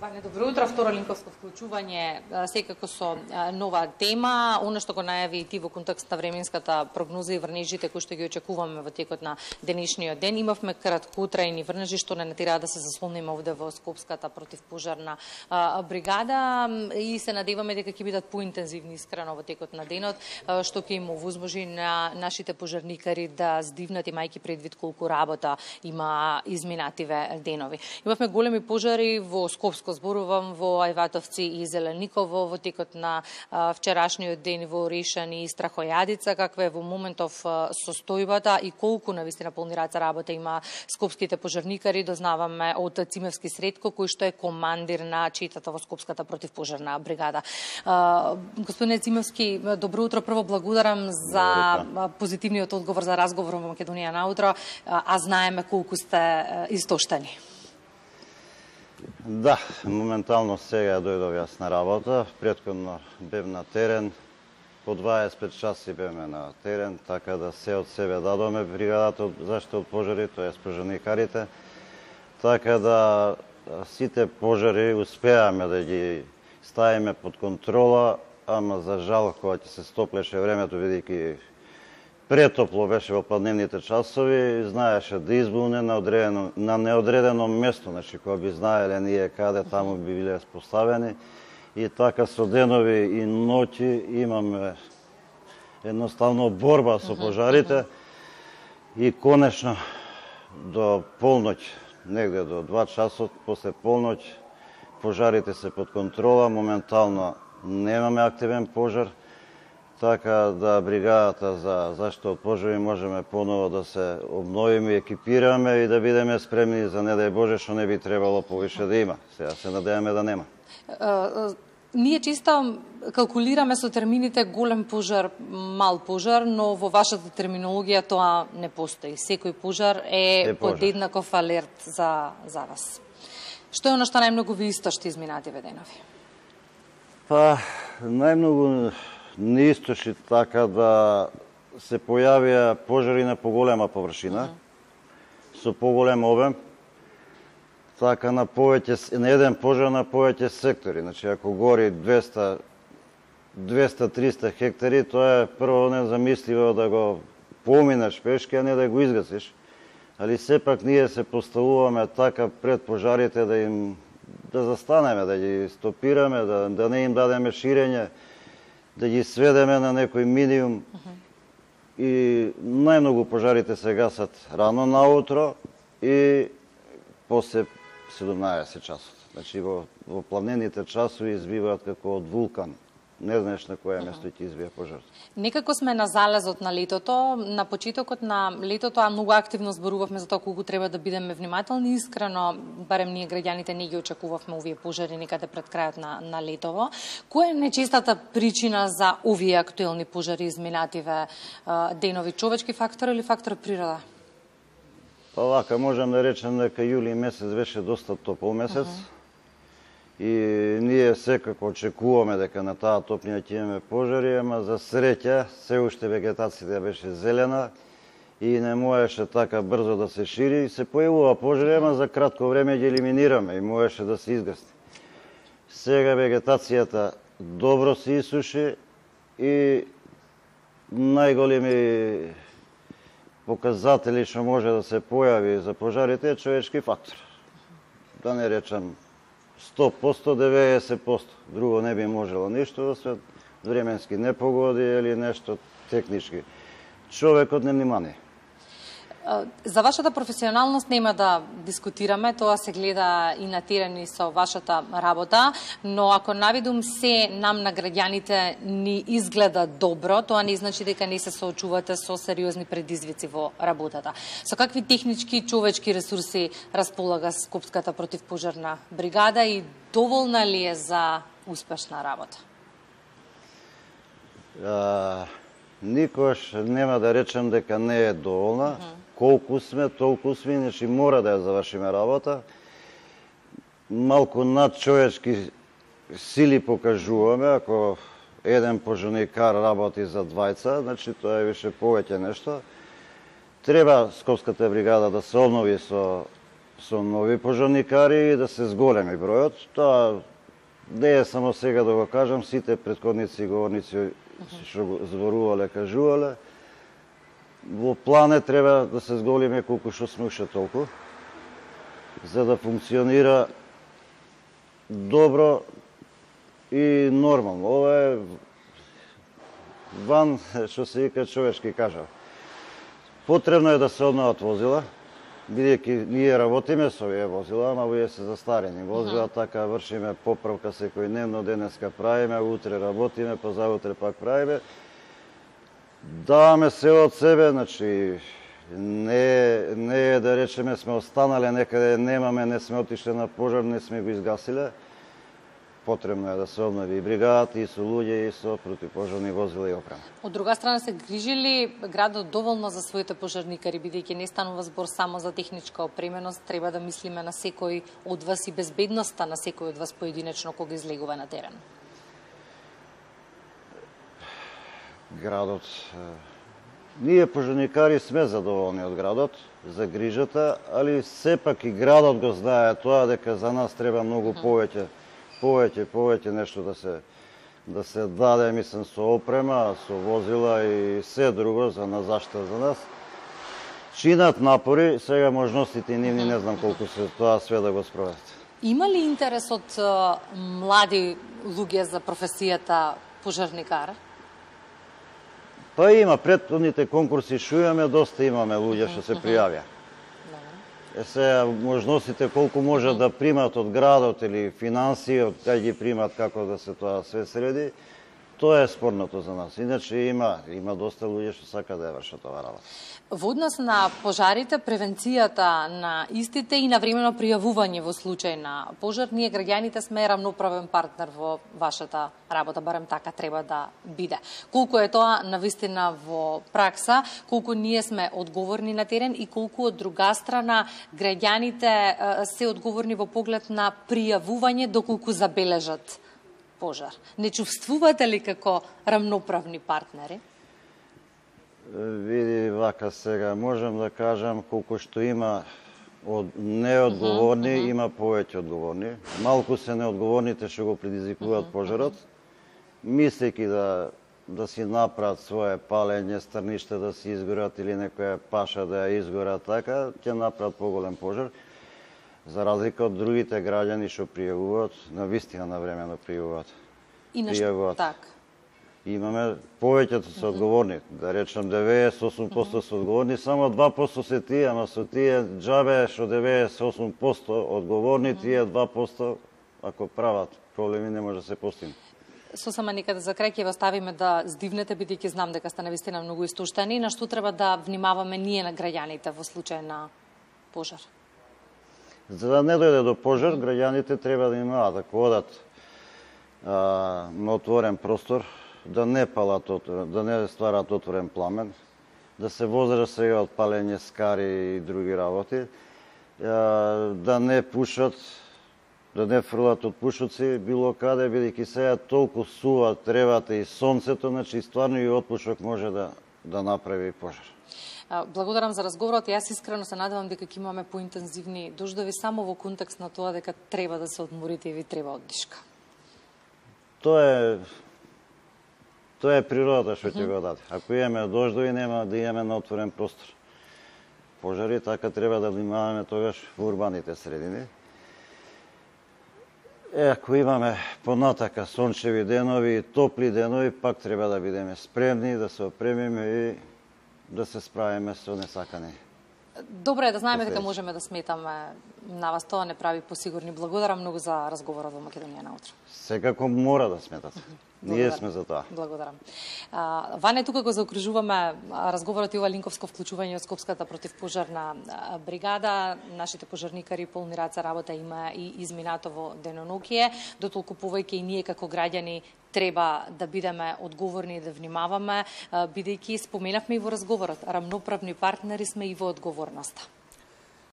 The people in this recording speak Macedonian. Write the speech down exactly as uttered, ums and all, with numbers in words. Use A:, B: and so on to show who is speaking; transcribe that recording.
A: Ваня, добро утро. Второ линковско вклучување, секако со нова тема. Оно што го најави и ти во контекст на временската прогноза и врнежите кои што ги очекуваме во текот на денешниот ден. Имавме краткотрајни врнежи што не натера да се заслониме овде во Скопската противпожарна бригада и се надеваме дека ќе бидат поинтензивни искрено во текот на денот, што ќе им овозможи на нашите пожарникари да здивнат, имајќи предвид колку работа има изминативе денови. Имавме големи пожари во Скопско, зборувам во Ајватовци и Зелениково во текот на вчерашниот ден во Орешани и Страхојадица. Каква е во моментов состојбата и колку навистина полни раце работа има скопските пожарникари, дознаваме од Цимевски Средко, кој што е командир на четата во Скопската противпожарна бригада. Господине Цимевски, добро утро. Прво благодарам за позитивниот одговор за разговор во Македонија наутро, а знаеме колку сте истоштени.
B: Да, моментално сега дојдов јас на работа, претходно бев на терен, по дваесет и пет часи беме на терен, така да се од себе дадоме бригадата од заштита од пожари, тоа е пожарникарите, така да сите пожари успеаме да ги ставиме под контрола, ама за жал кога ќе се стоплеше времето, бидејќи претопло беше во пладневните часови, знаеше да избуне на, одредено, на неодредено место, значи кога би знаеле ние каде таму би биле поставени и така со денови и ноќи имаме едноставно борба со пожарите и конечно до полноќ, негде до два часот после полноќ пожарите се под контрола, моментално немаме активен пожар, така да бригадата за заштита од пожари можеме поново да се обновиме, екипираме и да бидеме спремни за не дај Боже што не би требало повише да има. Сега се надеваме да нема.
A: Ние чисто калкулираме со термините голем пожар, мал пожар, но во вашата терминологија тоа не постои. Секој пожар е, е под еднаков алерт за, за вас. Што е оно што најмногу ви истошти изминативе денови?
B: Па, најмногу не истоши така да се појавија пожари на поголема површина, со поголем обем, така на повеќе, на еден пожар на повеќе сектори. Значи, ако гори двеста до триста хектари, тоа е прво незамисливо да го поминеш пешки, а не да го изгасиш. Али сепак ние се поставуваме така пред пожарите да им да застанеме, да ги стопираме, да, да не им дадеме ширење, да ги сведеме на некој минимум. Uh -huh. И најмногу пожарите се гасат рано наутро и после седумнаесет часот. Значи во, во плавнените часови избиваат како од вулкан. Не знаеш на кое место ќе избие пожар.
A: Некако сме на залезот на летото, на почетокот на летото, а многу активно зборувавме за тоа колку треба да бидеме внимателни. Искрено, барем ние граѓаните не ги очекувавме овие пожари некаде пред крајот на, на летово. Која е најчестата причина за овие актуелни пожари изминативе денови? Човечки фактор или фактор природа?
B: Па вака, можам да речем дека јули месец беше доста топол месец. Uh -huh. И ние секако очекуваме дека на таа топлина ќе имаме пожари, ама за среќа се уште вегетацијата беше зелена и не можеше така брзо да се шири. И се појавува пожари, ама за кратко време ги елиминираме и можеше да се изгасни. Сега вегетацијата добро се исуши и најголеми показатели што може да се појави за пожарите е човечки фактор. Да не речам сто проценти, деветдесет проценти. Друго не би можело ништо, освен временски непогоди или нешто технички. Човекот не внимание.
A: За вашата професионалност нема да дискутираме, тоа се гледа и на терен и со вашата работа, но ако навидум се нам на граѓаните ни изгледа добро, тоа не значи дека не се соочувате со сериозни предизвици во работата. Со какви технички и човечки ресурси располага Скопската противпожарна бригада и доволна ли е за успешна работа?
B: А, никош нема да речем дека не е доволна. Uh -huh. Колку сме, толку сме, значи мора да ја завршиме работа. Малку над човечки сили покажуваме, ако еден пожарникар работи за двајца, значи тоа е више повеќе нешто. Треба Скопската бригада да се обнови со со нови пожарникари и да се зголеми бројот. Тоа не е само сега да го кажам, сите претходници говорници што го зборувале, кажувале. Во плане треба да се зголеме колку што сме уште толку, за да функционира добро и нормално. Ова е ван, што се вика, човечки кажав. Потребно е да се обноват возила, бидејќи ние работиме со овие возила, ама овие се застарени возила, така вршиме поправка секојдневно, денеска правиме, утре работиме, па заутре пак правиме. Даваме се од себе, значи не, не е да речеме сме останале некаде, немаме, не сме отишле на пожар, не сме го изгасиле. Потребно е да се обнови и бригадата, и со луѓе, и со противпожарни возила и опрема.
A: Од друга страна, се грижи ли градот доволно за своите пожарникари, бидејќи не станува збор само за техничка опременост, треба да мислиме на секој од вас и безбедноста на секој од вас поединечно кога излегува на терен?
B: Градот... Ние пожарникари сме задоволни од градот, за грижата, али сепак и градот го знае тоа дека за нас треба многу повеќе повеќе, повеќе нешто да се да се даде, мислам, со опрема, со возила и се друго за на заштита за нас. Чинат напори, сега можностите нивни не знам колку се тоа све да го спроведат.
A: Има ли интерес од млади луѓе за професијата пожарникар?
B: Па има, претходните конкурси што имаме, доста имаме луѓе што се пријавија. Е сега, можностите колку може да примат од градот или финансии, од кај ги примат, како да се тоа све среди, тоа е спорното за нас. Иначе има, има доста луѓе што сака да ја вршат ова работа.
A: Во однос на пожарите, превенцијата на истите и навремено пријавување во случај на пожар, ние граѓаните сме рамноправен партнер во вашата работа, барем така треба да биде. Колку е тоа навистина во пракса, колку ние сме одговорни на терен и колку од друга страна граѓаните се одговорни во поглед на пријавување доколку забележат пожар. Не чувствувате ли како рамноправни партнери?
B: Види, вака сега, можам да кажам колку што има од неодговорни, uh -huh, uh -huh. има повеќе одговорни. Малку се неодговорните што го предизвикуваат uh -huh, пожарот, мислејќи да да си направат свое палење, стрништа да си изгорат или некоја паша да ја изгорат така, ќе направат поголем пожар. За разлика од другите граѓани што пријавуваат, навистина навремено пријавуваат.
A: И нешто така.
B: Имаме повеќето се одговорни, да речем деветдесет и осум проценти се одговорни, само два проценти се тие, ама со тие џабе што деветдесет и осум проценти одговорни, тие два проценти ако прават проблеми не може да се постигне.
A: Сосема некаде за крај ќе вас ставиме да здивнете, бидејќи знам дека сте навистина многу истуштени, на што треба да внимаваме ние на граѓаните во случај на пожар?
B: За да не дојде до пожар, граѓаните треба да имаат, ако одат а, на отворен простор, да не палат, да не стварат отворен пламен, да се воздржат сега од палење скари и други работи, да не пушат, да не фрлат од пушоци било каде, бидејќи сега толку сува тревата и сонцето, значи стварно и отпушок може да да направи пожар.
A: Благодарам за разговорот. Јас искрено се надевам дека ќе имаме поинтензивни дождови само во контекст на тоа дека треба да се одморите и ви треба оддишка.
B: Тоа е Тоа е природата што ќе го даде. Ако имаме дождови, нема да имаме на отворен простор. Пожари, така треба да внимаваме тогаш во урбаните средини. Е, ако имаме понатака сончеви денови, топли денови, пак треба да бидеме спремни, да се опремиме и да се справиме со несакани.
A: Добро е да знаеме дека можеме да сметаме на вас, тоа не прави посигурни. Благодарам многу за разговорот во Македонија наутро.
B: Секако мора да сметате. Ние сме за тоа.
A: Благодарам. Ване, тука го заокружуваме разговорот и ова линковско вклучување од Скопската противпожарна бригада. Нашите пожарникари полни раце работа има и изминато во денонокие. Дотолку повеќе и ние како граѓани треба да бидеме одговорни и да внимаваме, бидејќи споменавме и во разговорот, рамноправни партнери сме и во одговорноста.